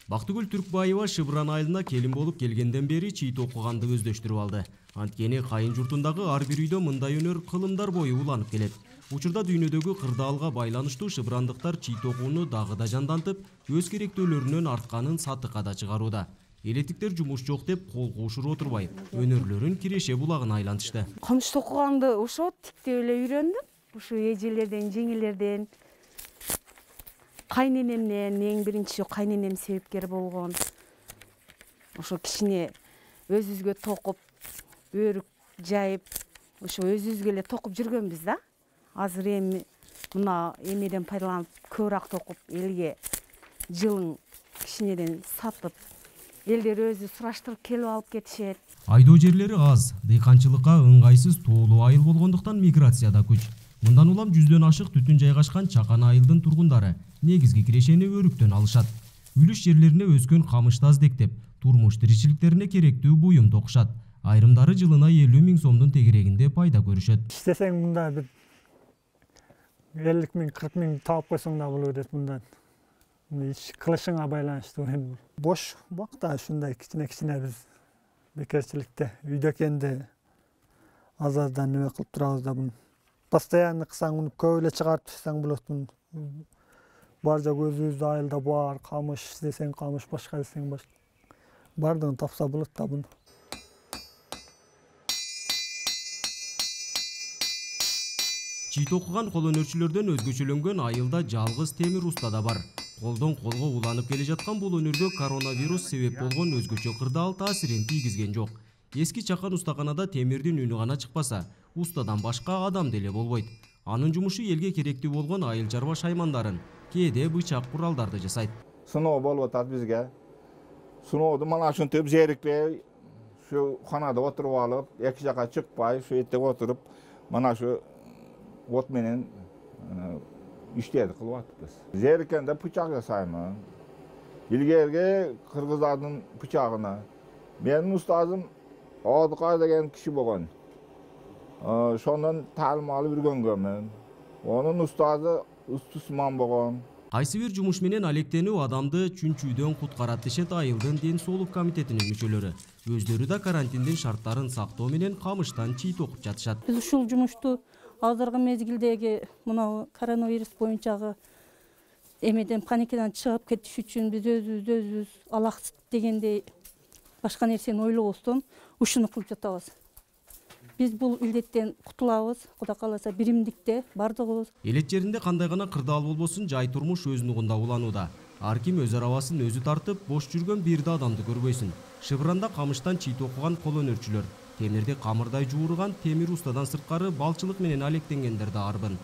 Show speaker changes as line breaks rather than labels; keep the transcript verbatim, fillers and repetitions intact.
Бактыгүл Түркбаева Шыбыран айылына келин болуп келгенден бери чийит окуганды өздөштүрүп алды. Анткени кайын журтундагы ар бир үйдө мындай өнөр кылымдар бою уланып келет. Учурда дүйнөдөгү кырдаалга байланыштуу шыбырандыктар чийит окууну дагы да жандантып, өз керектөөлөрүнөн артканын сатыкка да чыгарууда. Элеттиктер жумуш жок деп кол куушуруп отурбай, өнөрлөрүн Киреше булагына айлантышты.
Комушту окуганды ошо тиктеп эле үйрөндүм. Ушу эжелерден, жеңелерден, кайненемден, эң биринчи кайненем себепкер болгон. Ошо кичине өзүбүзгө токуп, өрүк жайып, ошо өзүбүзгө эле токуп жүргөнбүз да. Азыр эми мына эмеден пайдаланып көбүрөөк токуп, элге жылың кичинеден сатып, элдер өзү сураштырып келип алып кетишет.
Айдоо жерлери аз, дыйканчылыкка ыңгайсыз тоолуу айыл болгондуктан миграцияда күч. Мындан улам жүздөн ашык түтүн жайгашкан Чакан айылдын тургундары негизги кирешени өрүктөн алышат. Үлүш жерлерине өскөн камышты аздектеп, турмуш тиричиликтерине керектүү буюм токушат. Айрымдары жылына элүү миң сомдун тегерегинде пайда көрүшөт.
Иштесең мында бир элүү миң, кырк миң таап койсоң да боло берет мындан. Иш кылышыңа байланыштуу. Бош убакта ушундай кичине-кичине биз бекерчиликте үйдө экенде азардан неме кылып турабыз да буну. Постоянно кылсаң муну көп эле чыгарып таштасаң болот. Бар жок өзүбүздүн айылда бар, камыш десең камыш, башка десең башка. Бардыгын тапса болот да буну.
Чийит окуган кол өнөрчүлөрдөн өзгөчөлөнгөн айылда жалгыз Темир уста да бар. Колдон колго уланып келе жаткан бул өнөргө коронавирус себеп болгон өзгөчө кырдаал таасирин тийгизген жок. Эски Чакан устаканада темирдин үнү гана чыкпаса, устадан башка адам деле болбойт. Анын жумушу элге керектүү болгон айыл чарба шаймандарын, кээде бычак куралдарды жасайт.
Сыноо болуп атат бизге. Сынооду мына ушинтип зерикпей, ушу канада отуруп алып, эки жака чыкпай, ушу жерде отуруп, мына ушу от менен иштерди кылып атпыз. Зериккенде бычак жасаймын. Илгерги кыргыздардын бычагына. Менин устазым Одукай деген киши болгон. Ошондон таалим алып жүргөнгөмүн. Онун устазы Устусман болгон.
Кайсы бир жумуш менен алектенүү адамды чүнчүүдөн куткарат дешет айылдын ден соолук комитетинин мүчөлөрү. Өздөрү да карантиндин шарттарын сактоо менен камыштан чийит окуп жатышат.
Биз ушул жумушту азыркы мезгилдеги мына коронавирус боюнчагы эмеден паникадан чыгып кетиш үчүн биз өзүбүздү өзүбүз алаксыт дегендей башка нерсени ойлобостон ушуну кылып жатабыз. Биз бул илдеттен кутулабыз, Кудай кааласа биримдикте бардыгыбыз.
Элет жеринде кандай гана кырдаал болбосун, жай турмуш өз нугунда уланууда. Ар ким өз арабасын өзү тартып, бош жүргөн бир да адамды көрбөйсүн. Шыбыранда камыштан чийит окуган кол өнөрчүлөр, темирди камырдай жуурган Темир устадан сырткары балчылык менен алектенгендер да арбын.